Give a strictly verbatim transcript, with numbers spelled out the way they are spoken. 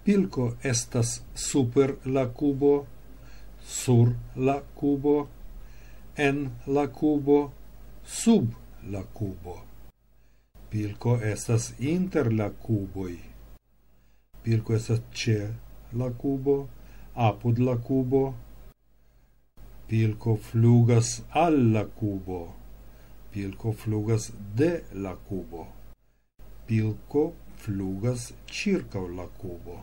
Pilko estas super la kubo, sur la kubo, en la kubo, sub la kubo. Pilko estas inter la kuboj. Pilko estas ĉe la kubo, apud la kubo. Pilko flugas al la kubo. Pilko flugas de la kubo. Pilko flugas ĉirkaŭ la kubo.